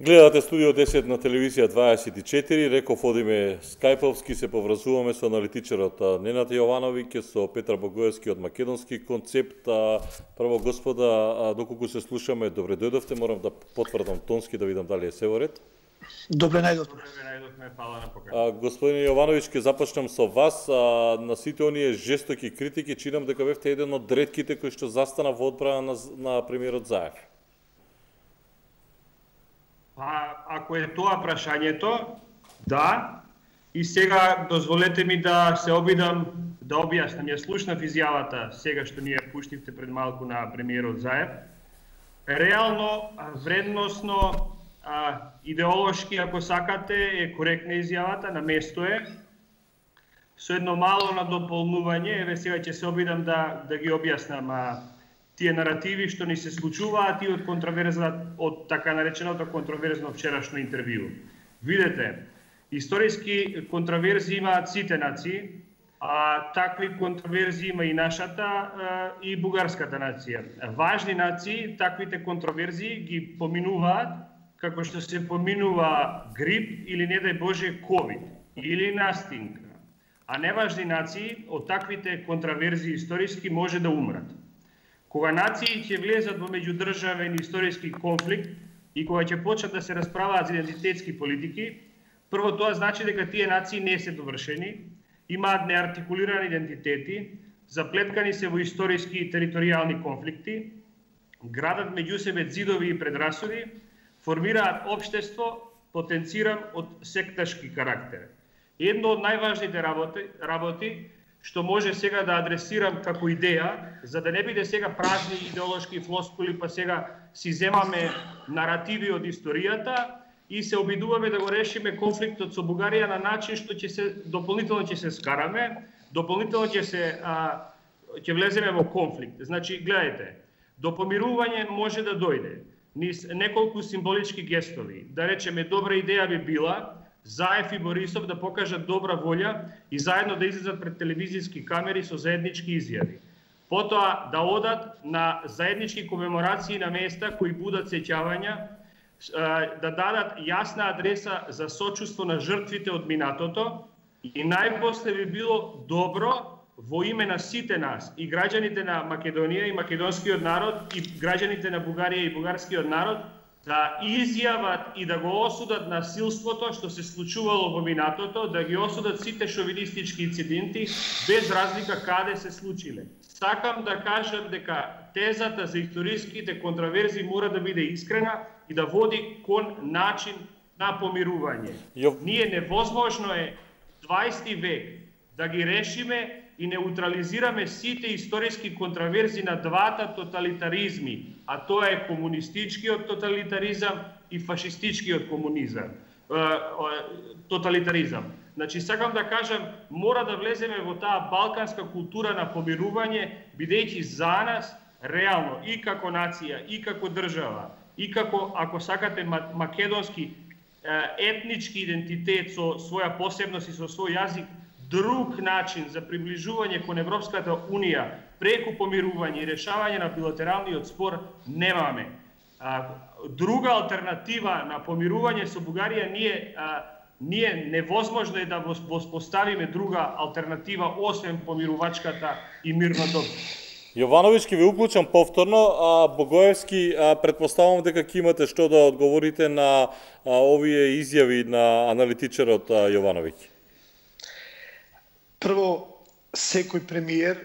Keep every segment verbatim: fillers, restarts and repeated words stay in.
Гледате Студио десет на телевизија дваесет и четири, реков одиме скајповски, се поврзуваме со аналитичарот Ненад Јовановиќ, со Петар Богоевски од Македонски концепт. Прво, господа, доколку се слушаме, добре дојдовте, морам да потврдам тонски да видам дали е се во ред. Добре најдовме. Добре најдовме, фала на поканата. Господин Јовановиќ, ќе започнем со вас. А, на сите оние жестоки критики, чинам дека бевте еден од ретките кои што застана во одбрана на, на премиерот Заев. Па, ако е тоа прашањето, да. И сега дозволете ми да се обидам да објаснам. Ја слушнав изјавата сега што ни ја пуштивте пред малку на премиерот Заев. Реално, вредносно, а, идеолошки, ако сакате, е коректна изјавата, на место е. Со едно мало надополнување, еве сега ќе се обидам да да ги објаснам а, тие наративи што ни се случуваат и од контроверза, од така нареченото контроверзно вчерашно интервју. Видете, историски контроверзи имаат сите нации, а такви контроверзи има и нашата а, и бугарската нација. Важни нации таквите контроверзи ги поминуваат како што се поминува грип или не дај Боже ковид или настинка. А неважни нации од таквите контроверзи историски може да умрат. Кога нации ќе влезат во меѓудржавен историски конфликт и кога ќе почнат да се расправаат за идентитетски политики, прво тоа значи дека тие нации не се довршени, имаат неартикулирани идентитети, заплеткани се во историски и територијални конфликти, градат меѓу себе ѕидови и предрасуди, формираат општество, потенциран од секташки карактер. Едно од најважните работи, работи што може сега да адресирам како идеја, за да не биде сега празни идеолошки флоскули, па сега си земаме наративи од историјата и се обидуваме да го решиме конфликтот со Бугарија на начин што ќе се дополнително ќе се скараме, дополнително ќе се а, ќе влеземе во конфликт. Значи, гледајте, до помирување може да дојде низ неколку символички гестови. Да речеме, добра идеја би била Заев и Борисов да покажат добра волја и заедно да излезат пред телевизиски камери со заеднички изјави. Потоа да одат на заеднички комеморации на места кои будат сеќавања, да дадат јасна адреса за сочувство на жртвите од минатото и најпосле би било добро во име на сите нас, и граѓаните на Македонија и македонскиот народ, и граѓаните на Бугарија и бугарскиот народ, да изјават и да го осудат насилството што се случувало во минатото, да ги осудат сите шовинистички инциденти, без разлика каде се случиле. Сакам да кажам дека тезата за историските контроверзи мора да биде искрена и да води кон начин на помирување. Јо... Ние невозможно е дваесети век да ги решиме и неутрализираме сите историски контроверзи на двата тоталитаризми, а тоа е комунистичкиот тоталитаризам и фашистичкиот комунизам, тоталитаризам. Значи, сакам да кажам, мора да влеземе во таа балканска култура на помирување, бидејќи за нас, реално, и како нација, и како држава, и како, ако сакате, македонски етнички идентитет со своја посебност и со свој јазик, друг начин за приближување кон Европската Унија преку помирување и решавање на билатералниот спор немаме. Друга алтернатива на помирување со Бугарија ние ние невозможно е да воспоставиме друга алтернатива освен помирувачката и мирното. Јовановиќ, ќе ви уклучам повторно, а Богоевски, а, предпоставам дека ќе имате што да одговорите на а, овие изјави на аналитичарот Јовановиќ. Прво, секој премиер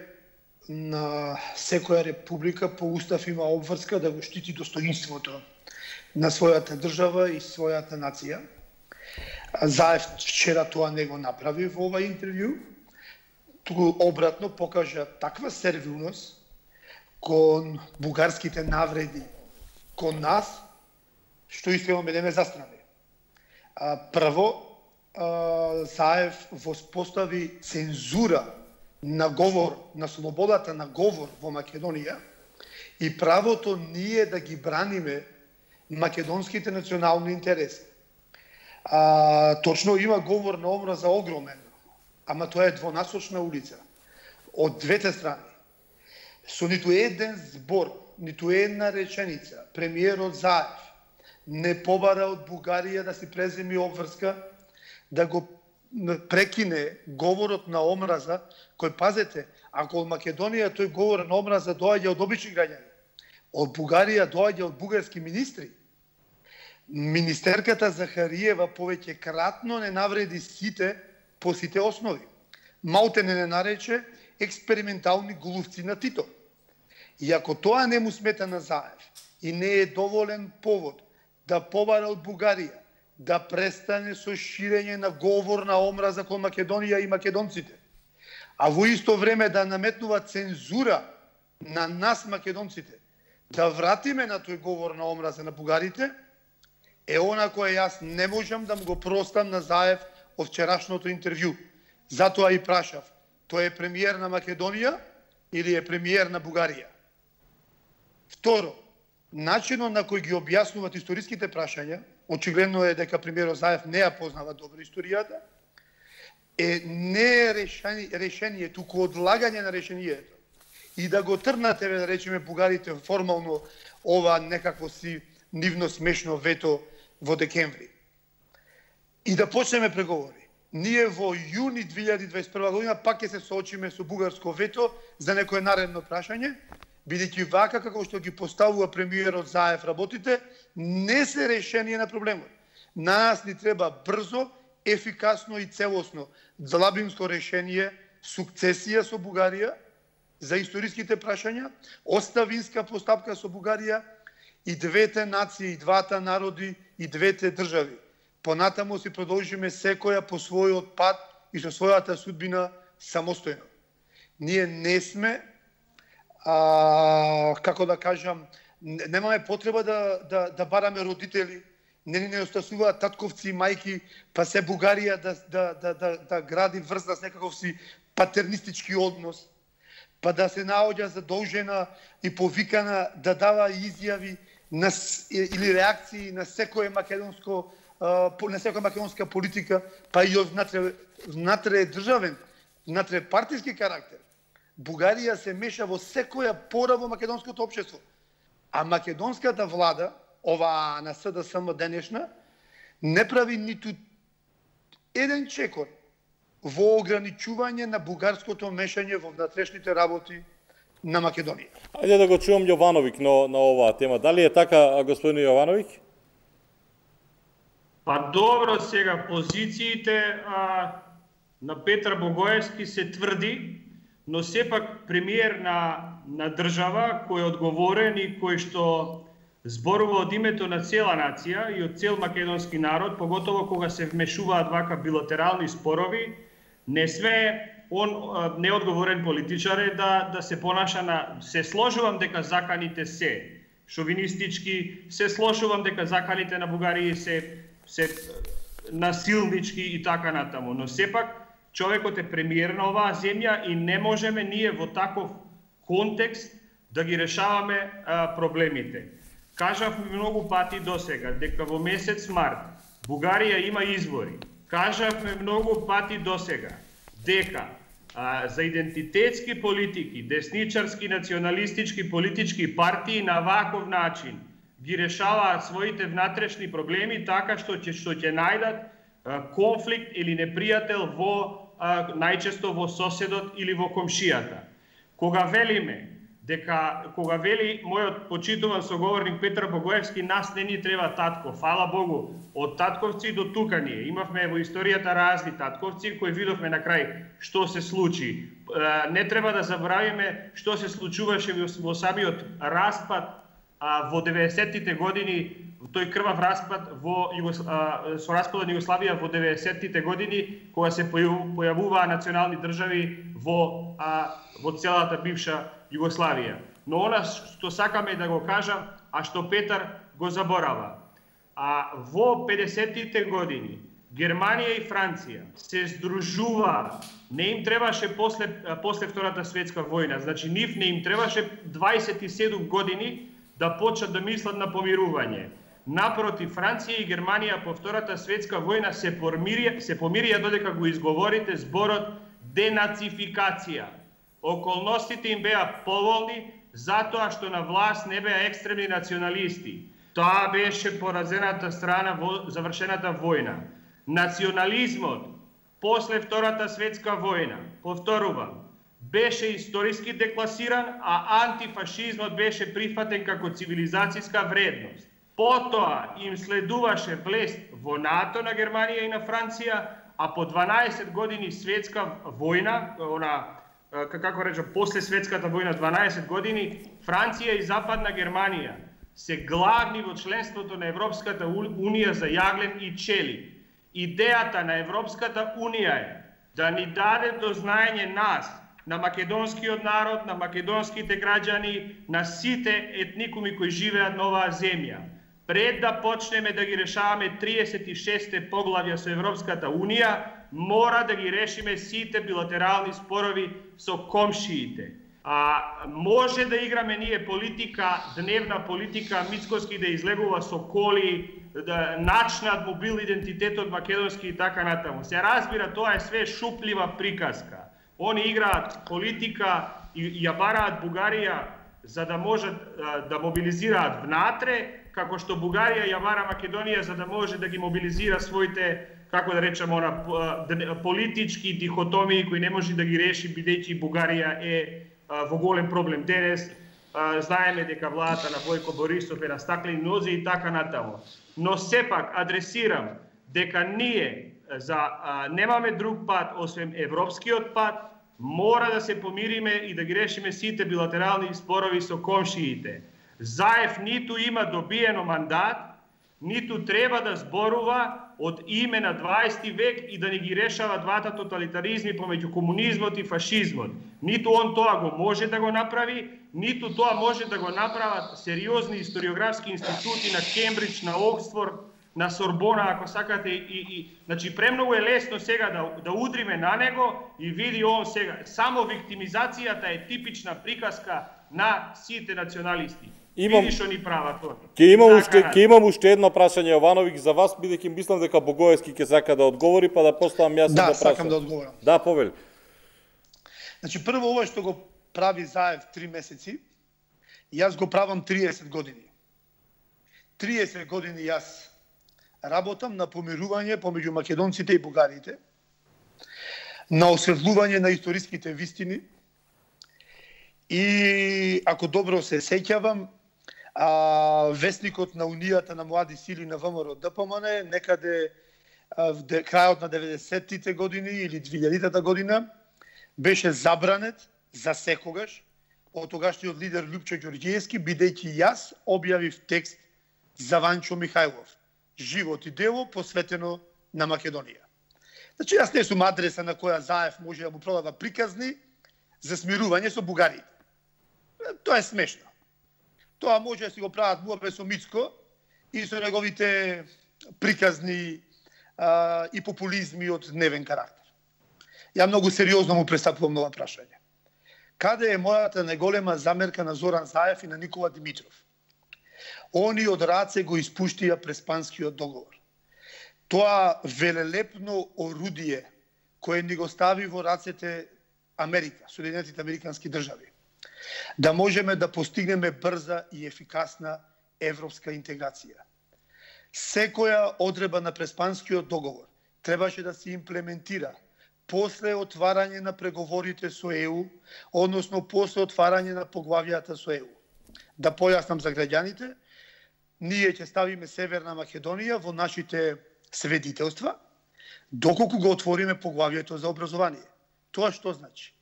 на секоја република по устав има обврска да го штити достоинството на својата држава и својата нација. Заев вчера тоа не го направи во ова интервју, туку обратно покажа таква сервилност кон бугарските навреди кон нас, што искрено ме застрави. Прво, Заев воспостави цензура на говор, на слободата на говор во Македонија и правото ние да ги браниме македонските национални интереси. А, точно има говор на омраза огромен, ама тоа е двонасочна улица. Од двете страни. Со ниту еден збор, ниту една реченица, премиерот Заев не побара од Бугарија да си преземи обврска, да го прекине говорот на омраза, кој, пазете, ако од Македонија тој говор на омраза доаѓа од обични граѓани, од Бугарија доаѓа од бугарски министри. Министерката Захариева повеќе кратно не навреди сите по сите основи. Малте не не нарече експериментални глувци на Тито. И ако тоа не му смета на Заев и не е доволен повод да побара од Бугарија да престане со ширење на говор на омраза кон Македонија и македонците, а во исто време да наметнува цензура на нас македонците, да вратиме на тој говор на омраза на бугарите, е она кое јас не можам да му го простам на Заев од вчерашното интервју. Затоа и прашав, тој е премиер на Македонија или е премиер на Бугарија? Второ, начинот на кој ги објаснуваат историските прашања, очигледно е дека премиерот Заев не ја познава добро историјата, е не е решение, решение, туку одлагање на решението. И да го трнате, да речеме, бугарите формално ова некакво си нивно смешно вето во декември. И да почнеме преговори. Ние во јуни две илјади и дваесет и прва година пак ќе се соочиме со бугарско вето за некое наредно прашање, бидејќи вака како што ги поставува премиерот Заев работите, не се решение на проблемот. На нас ни треба брзо, ефикасно и целосно длабинско решение, сукцесија со Бугарија за историските прашања, оставинска постапка со Бугарија и двете нации, и двата народи, и двете држави. Понатамо си продолжиме секоја по својот пат и со својата судбина самостојно. Ние не сме, а, како да кажам, немаме потреба да, да, да бараме родители, не ни не остасуваат татковци и мајки, па се Бугарија да, да, да, да, да гради врза с некаков си патернистички однос, па да се наоѓа задолжена и повикана да дава изјави на, или реакции на секое македонско на секоја македонска политика, па и од внатре, внатре државен, внатре партиски карактер. Бугарија се меша во секоја пора во македонското општество. А македонската влада, ова на СДСМ денешна, не прави ниту еден чекор во ограничување на бугарското мешање во внатрешните работи на Македонија. Ајде да го чуам Јовановиќ на, на оваа тема. Дали е така, господин Јовановиќ? Па добро, сега позициите а, на Петар Богоевски се тврди, но сепак премиер на, на држава кој е одговорен и кој што зборува од името на цела нација и од цел македонски народ, поготово кога се вмешуваат вака билатерални спорови, не све он неодговорен политичар е да, да се понаша на... Се сложувам дека заканите се шовинистички, се сложувам дека заканите на Бугарија се се насилнички и така натаму, но сепак човекот е премиер на оваа земја и не можеме ние во таков контекст да ги решаваме а, проблемите. Кажавме многу пати досега дека во месец март Бугарија има избори. Кажавме многу пати досега дека а, за идентитетски политики, десничарски, националистички политички партии на ваков начин ги решаваат своите внатрешни проблеми така што ќе што ќе најдат а, конфликт или непријател во а, најчесто во соседот или во комшијата. Кога велиме дека кога вели мојот почитуван соговорник Петар Богоевски, нас не ни треба татко. Фала Богу, од татковци до тука ние имавме во историјата разни татковци кои видовме на крај што се случи. Не треба да забравиме што се случуваше во самиот распад а, во деветдесеттите години, тој крвав распад во Југос... а, со распадот на Југославија во деветдесеттите години, кога се појавуваа национални држави во а, во целата бивша Југославија. Но она што сакаме да го кажам, а што Петар го заборава. А во педесеттите години Германија и Франција се здружуваа. Не им требаше после после Втората светска војна, значи нив не им требаше дваесет и седум години да почнат да мислат на помирување. Напротив, Франција и Германија по Втората светска војна се помирија, се помирија додека го изговорите зборот денацификација. Околностите им беа поволни затоа што на власт не беа екстремни националисти. Таа беше поразената страна во завршената војна. Национализмот после Втората светска војна, повторувам, беше историски декласиран, а антифашизмот беше прифатен како цивилизацијска вредност. Потоа им следуваше влест во НАТО на Германија и на Франција, а по дванаесет години светска војна, она како речам, после светската војна дванаесет години, Франција и Западна Германија се главни во членството на Европската унија за јаглен и челик. Идејата на Европската унија е да ни даде до знаење нас, на македонскиот народ, на македонските граѓани, на сите етникуми кои живеат на оваа земја. Пред да почнеме да ги решаваме триесет и шесте поглавја со Европската унија, мора да ги решиме сите билатерални спорови со комшиите. А може да играме ние политика, дневна политика, Мицкоски да излегува со коли, да начнат мобил идентитетот македонски и така натаму. Се разбира, тоа е све шуплива приказка. Они играат политика и ја бараат Бугарија за да можат да мобилизираат внатре, како што Бугарија ја бара Македонија за да може да ги мобилизира своите, како да речем, она политички дихотомии кои не може да ги реши, бидејќи Бугарија е во голем проблем денес. Знаеме дека владата на Војко Борисов е на стаклени нозе и така натаму. Но сепак адресирам дека ние за а, немаме друг пат освен европскиот пат, мора да се помириме и да ги решиме сите билатерални спорови со комшиите. Заев ниту има добиено мандат, ниту треба да зборува од име на дваесети век и да ни ги решава двата тоталитаризми помеѓу комунизмот и фашизмот. Ниту он тоа го може да го направи, ниту тоа може да го направат сериозни историографски институти на Кембридж, на Оксфорд, на Сорбона, ако сакате, и, и значи премногу е лесно сега да, да удриме на него и види он сега. Само виктимизацијата е типична приказка на сите националисти. Имам, види што ни прават тоа. Ќе имам уште ќе имам уште едно прашање, Јовановиќ, за вас, бидејќи мислам дека Богоевски ќе сака да одговори, па да поставам јас да, да прашам. Да, сакам да одговорам. Да, повели. Значи прво ова што го прави Заев три месеци, јас го правам триесет години. триесет години јас работам на помирување помеѓу македонците и бугарите, на осветлување на историските вистини и, ако добро се сеќавам, а, вестникот на Унијата на млади сили на ВМРО ДПМН некаде а, в де, крајот на деветдесеттите години или двилјадитата година беше забранет за секогаш од тогашниот лидер Љупчо Ѓорѓиевски, бидејќи јас објавив текст за Ванчо Михајлов, живот и дело посветено на Македонија. Значи, јас не сум адреса на која Заев може да му продава приказни за смирување со бугарите. Тоа е смешно. Тоа може да си го прават муабе со Мицко и со неговите приказни а, и популизми од дневен карактер. Ја многу сериозно му пристапувам на ова прашање. Каде е мојата најголема замерка на Зоран Заев и на Никола Димитров? Они од раце го испуштија Преспанскиот договор. Тоа велелепно орудие кое ни го стави во рацете Америка, Соединетите Американски држави, да можеме да постигнеме брза и ефикасна европска интеграција. Секоја одредба на Преспанскиот договор требаше да се имплементира после отварање на преговорите со Е У, односно после отварање на поглавјата со Е У. Да појаснам за граѓаните, ние ќе ставиме Северна Македонија во нашите сведителства, доколку го отвориме поглавјето за образование. Тоа што значи?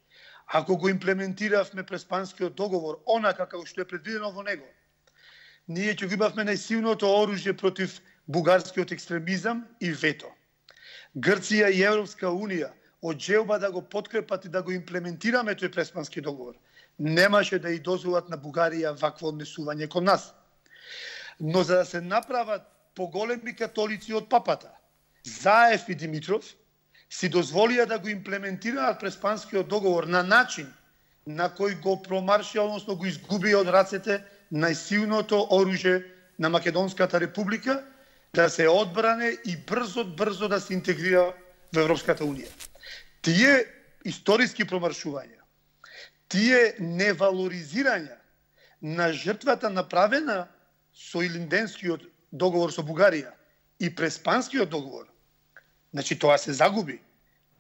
Ако го имплементиравме Преспанскиот договор, онака како што е предвидено во него, ние ќе го имавме најсилното оружје против бугарскиот екстремизам и вето. Грција и Европска унија од желба да го подкрепат и да го имплементираме тој Преспански договор, немаше да и дозволат на Бугарија вакво однесување кон нас. Но за да се направат поголеми католици од папата, Заев и Димитров си дозволија да го имплементираат Преспанскиот договор на начин на кој го промаршија, односно го изгуби од рацете најсилното оружје на Македонската република, да се одбране и брзо-брзо да се интегрира во Европската унија. Тие историски промаршувања, тие невалоризирања на жртвата направена со Илинденскиот договор со Бугарија и Преспанскиот договор, значи тоа се загуби.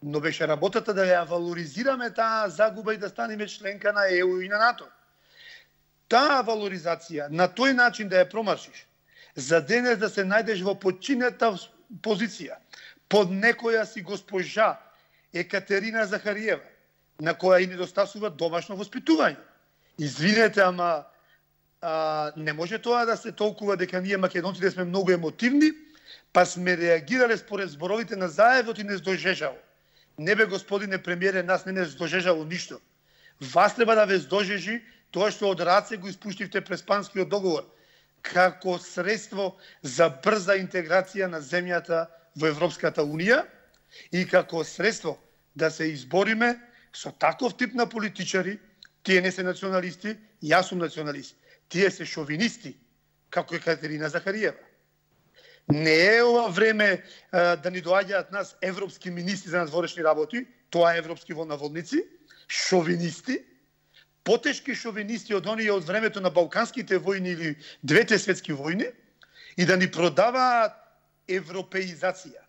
Но беше работата да ја валоризираме таа загуба и да станеме членка на Е У и на НАТО. Таа валоризација, на тој начин да ја промаршиш, за денес да се најдеш во подчинета позиција, под некоја си госпожа Екатерина Захариева, на која и недостасува домашно воспитување. Извинете, ама а, не може тоа да се толкува дека ние македонците сме многу емотивни, па сме реагирале според зборовите на Заевот и не здожежало. Не бе, господине премиере, нас не не здожежало ништо. Вас треба да ве здожежи тоа што од раце го испуштивте Преспанскиот договор, како средство за брза интеграција на земјата во Европската Унија и како средство да се избориме со таков тип на политичари. Тие не се националисти, јас сум националист. Тие се шовинисти, како Екатерина Захариева. Не е ова време а, да ни доаѓаат нас европски министри за надворешни работи, тоа е европски во наводници, шовинисти, потешки шовинисти од оние од времето на Балканските војни или двете светски војни, и да ни продаваат европеизација.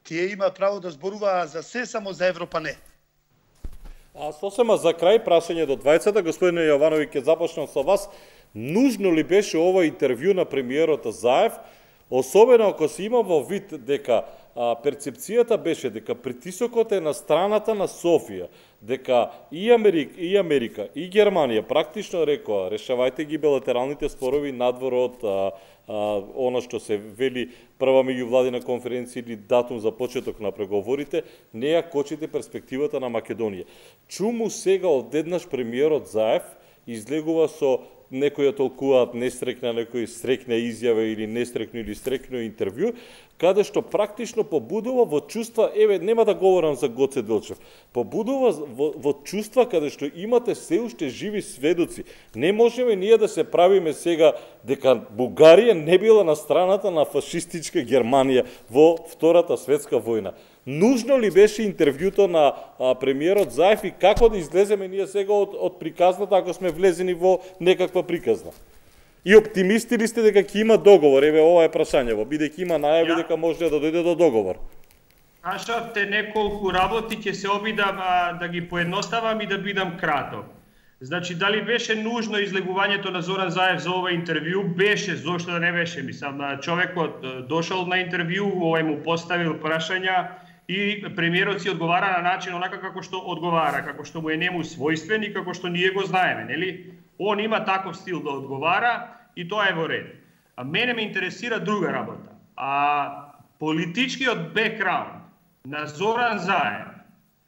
Тие има право да зборуваат за се, само за Европа не. А сосема за крај, прашање до двајцата, господине Јованови, ќе започнам со вас. Нужно ли беше ова интервју на премиерот Заев, особено ако се има во вид дека а, перцепцијата беше дека притисокот е на страната на Софија, дека и Америка, и Америка, и Германија практично рекоа решавајте ги билатералните спорови надвор од а, а, она што се вели прва меѓувладина конференција или датум за почеток на преговорите, не ја кочите перспективата на Македонија. Чуму сега одеднаш премиерот Заев излегува со некои ја толкуваат нестрекна, некои стрекна изјава или нестрекно или стрекно интервју, каде што практично побудува во чувства, еве, нема да говорам за Гоце Делчев, побудува во, во чувства каде што имате се уште живи сведоци. Не можеме ние да се правиме сега дека Бугарија не била на страната на фашистичка Германија во Втората светска војна. Нужно ли беше интервјуто на а, премиерот Заев и како да излеземе ние сега од, од приказната ако сме влезени во некаква приказна? И оптимисти ли сте дека ќе има договор? Еве, ова е прашањево, бидејќи има најави дека може да дојде до договор. Кажавте неколку работи, ќе се обидам а, да ги поедноставам и да бидам краток. Значи, дали беше нужно излегувањето на Зоран Заев за ова интервју? Беше, зошто да не беше? Мислам, човекот дошол на интервју, овој му поставил прашања и премиерот си одговара на начин онака како што одговара, како што му е нему својствен и како што ние го знаеме, нели? Он има таков стил да одговара и тоа е во ред. А мене ме интересира друга работа. А политичкиот бекграунд на Зоран Заев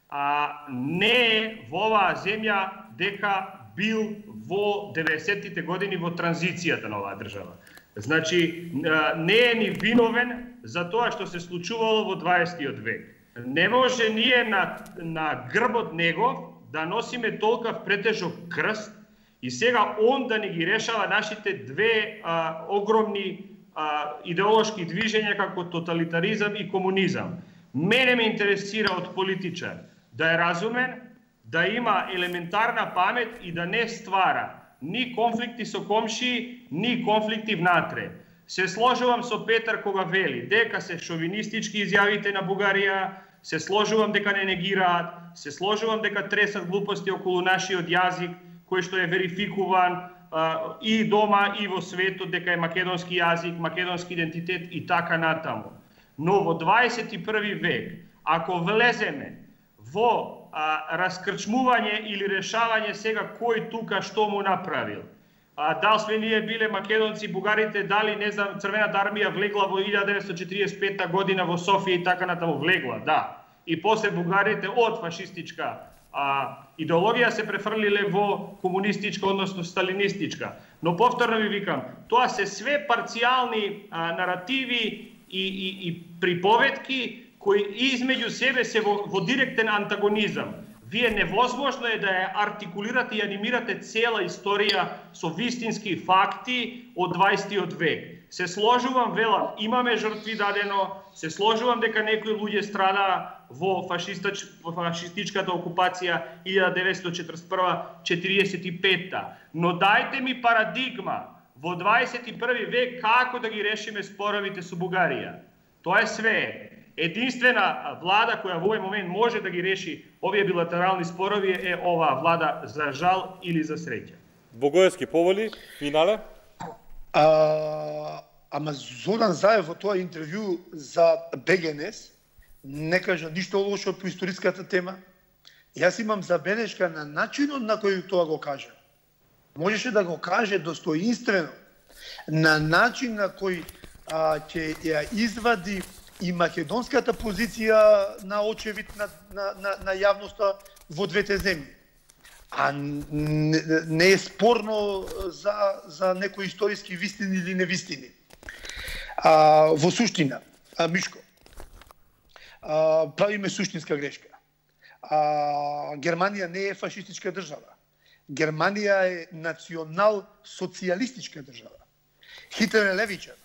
а не е во оваа земја дека бил во деветдесеттите години во транзицијата на оваа држава. Значи, не е ни виновен за тоа што се случувало во дваесеттиот век. Не може ние на, на грбот него да носиме толкав претежок крст и сега он да ни ги решава нашите две а, огромни а, идеолошки движења како тоталитаризам и комунизам. Мене ме интересира од политичар да е разумен, да има елементарна памет и да не ствара ни конфликти со комши, ни конфликти внатре. Се сложувам со Петар кога вели дека се шовинистички изјавите на Бугарија, се сложувам дека не негираат, се сложувам дека тресат глупости околу нашиот јазик, кој што е верификуван а, и дома и во светот, дека е македонски јазик, македонски идентитет и така натаму. Но во дваесет и први век, ако влеземе во а, раскрчмување или решавање сега кој тука што му направил, а, дали сме ние биле македонци, бугарите, дали, не знам, Црвената армија влегла во илјада деветстотини четиридесет и пета година во Софија и така натаму, влегла, да. И после бугарите од фашистичка а, идеологија се префрлиле во комунистичка, односно сталинистичка. Но повторно ви викам, тоа се све парцијални а, наративи и, и, и приповедки кои измеѓу себе се во, во директен антагонизам. Вие невозможно е да ја артикулирате и анимирате цела историја со вистински факти од дваесеттиот век. Се сложувам, велам, имаме жртви дадено, се сложувам дека некои луѓе страдаа во, фашистич, во фашистичката окупација илјада деветстотини четиридесет и прва до четиридесет и пета. Но дајте ми парадигма во дваесет и први век како да ги решиме споровите со Бугарија. Тоа е све. Единствена влада која во овој момент може да ги реши овие билатерални спорови е оваа влада, за жал или за среќа. Богоевски поволи, финале? А, ама Зоран Заев во тоа интервју за БГНС не кажа ништо лошо по историската тема. Јас имам забелешка на начинот на кој тоа го кажа. Можеше да го каже достоинствено, на начин на кој а, ќе ја извади и македонската позиција на очевид на, на, на, на јавноста во двете земји. А не, не е спорно за, за некои историски вистини или невистини. А, во суштина, а, Мишко, а, правиме суштинска грешка. А, Германија не е фашистичка држава. Германија е национал-социјалистичка држава. Хитлер е левичар.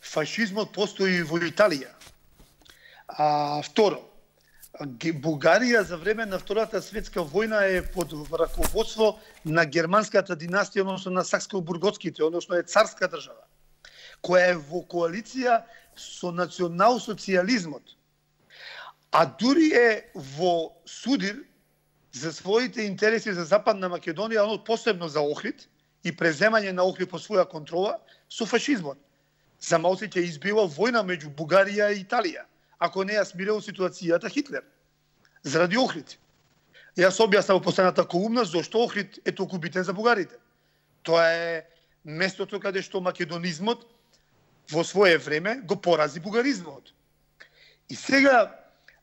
Фашизмот постои во Италија. А, второ, Бугарија за време на Втората светска војна е под раководство на германската династија, односно на Сакско-Бурготските, односно е царска држава, која е во коалиција со национал-социјализмот. А дури е во судир за своите интереси за Западна Македонија, оно посебно за Охрид и преземање на Охрид по своја контрола со фашизмот. За малце ќе избива војна меѓу Бугарија и Италија, ако не ја смирил ситуацијата Хитлер, заради Охрид. Јас објаснав во последната колумна зошто Охрид е толку битен за бугарите. Тоа е местото каде што македонизмот во свое време го порази бугаризмот. И сега,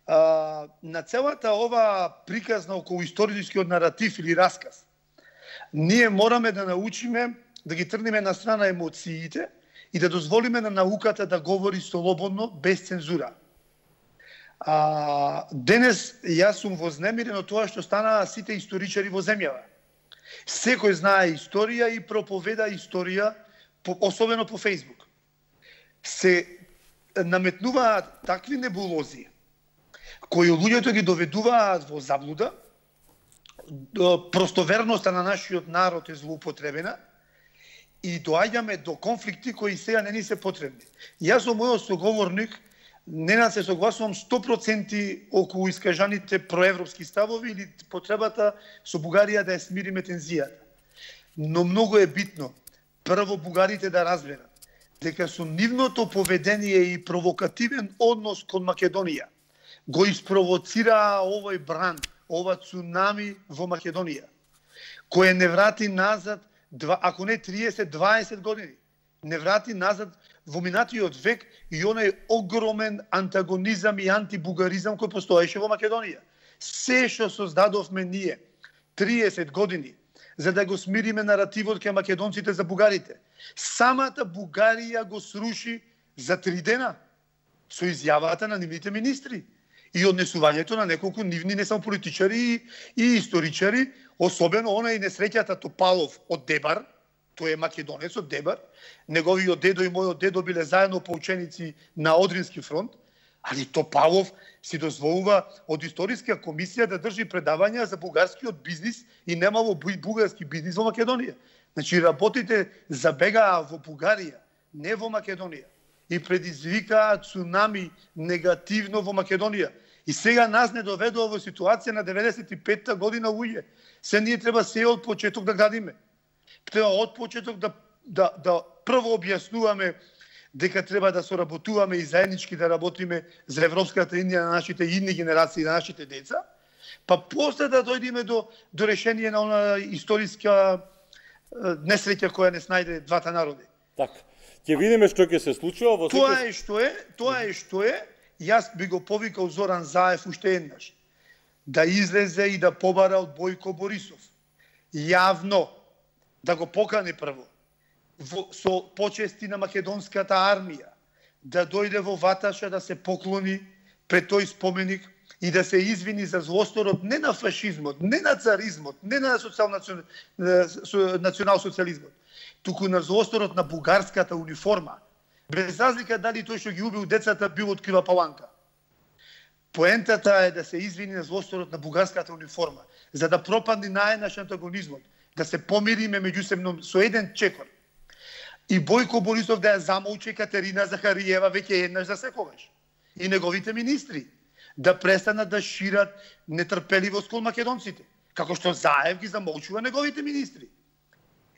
а, на целата ова приказна околу историскиот наратив или расказ, ние мораме да научиме да ги тргнеме на страна емоциите и да дозволиме на науката да говори слободно, без цензура. А, денес јас сум вознемирен од тоа што станаа сите историчари во земјава. Секој знае историја и проповеда историја, особено по Фејсбук. Се наметнуваат такви небулози кои луѓето ги доведуваат во заблуда, простоверноста на нашиот народ е злоупотребена и доаѓаме до конфликти кои сега не ни се потребни. Јас со мојот соговорник не се согласувам сто проценти околу искажаните проевропски ставови или потребата со Бугарија да ја смириме тензијата. Но многу е битно прво бугарите да разберат дека со нивното поведение и провокативен однос кон Македонија го испровоцираа овој бран, ова цунами во Македонија, кој не врати назад, ако не триесет до дваесет години, не врати назад во минатиот век и онај огромен антагонизам и антибугаризам кој постоеше во Македонија. Се што создадовме ние триесет години за да го смириме наративот кај македонците за бугарите, самата Бугарија го сруши за три дена со изјавата на нивните министри и однесувањето на неколку нивни не само политичари и, и историчари, особено онај несреќата Топалов од Дебар, тој е македонец од Дебар, неговиот дедо и мојот дедо биле заедно поученици на Одрински фронт, али Топалов си дозволува од историска комисија да држи предавања за бугарскиот бизнис и немало бугарски бизнис во Македонија. Значи, работите забегаа во Бугарија, не во Македонија, и предизвикаа цунами негативно во Македонија. И сега нас не доведува во ситуација на деветдесет и петта година луѓе. Се ние треба се од почеток да градиме. Треба од почеток да, да, да прво објаснуваме дека треба да соработуваме и заеднички да работиме за Европската Индија на нашите идни генерации, на нашите деца, па после да дојдеме до, до решение на она историска несреќа која не снајде двата народи. Така. Ќе видиме што ќе се случува во Тоа е што е, тоа е што е. Јас би го повикал Зоран Заев уште еднаш да излезе и да побара од Бојко Борисов јавно, да го покани прво во, со почести на македонската армија, да дојде во Ваташа да се поклони пред тој споменик и да се извини за злосторот не на фашизмот, не на царизмот, не на национал-социализмот, туку на злосторот на бугарската униформа, без разлика дали тој што ги убил децата бил од Крива Паланка. Поентата е да се извини на злосторот на бугарската униформа, за да пропадне наеднаш антагонизмот да се помириме меѓусебно со еден чекор. И Бојко Борисов да ја замолчи Катерина Захариева веќе еднаш за секогаш. И неговите министри да престанат да шират нетрпеливост кон македонците, како што Заев ги замолчува неговите министри.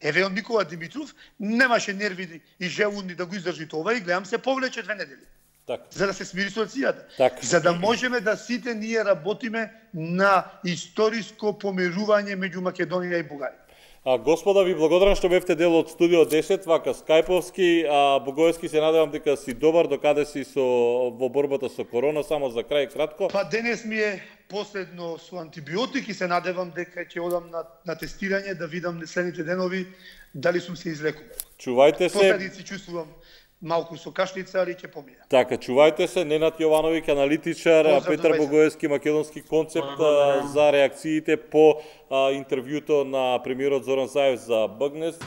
Еве он Никола Димитров немаше нерви и желудни да го издржи това и гледам се повлече две недели. Так. За да се смири ситуацијата. Так. За да можеме да сите ние работиме на историско помирување меѓу Македонија и Бугарија. А, господа, ви благодарам што бевте дел од Студио десет, вака скајповски, а Богоевски се надевам дека си добар, докаде си со во борбата со корона, само за крај кратко. Па денес ми е последно со антибиотик и се надевам дека ќе одам на, на тестирање да видам следните денови дали сум се излекувал. Чувајте се. Последици чувствувам малку со кашлица, али ќе помија. Така, чувајте се, Ненад Јовановиќ, аналитичар, Поздрав, Петар добре се. Богоевски, македонски концепт а, за реакциите по а, интервјуто на премиерот Зоран Заев за Бъгнес.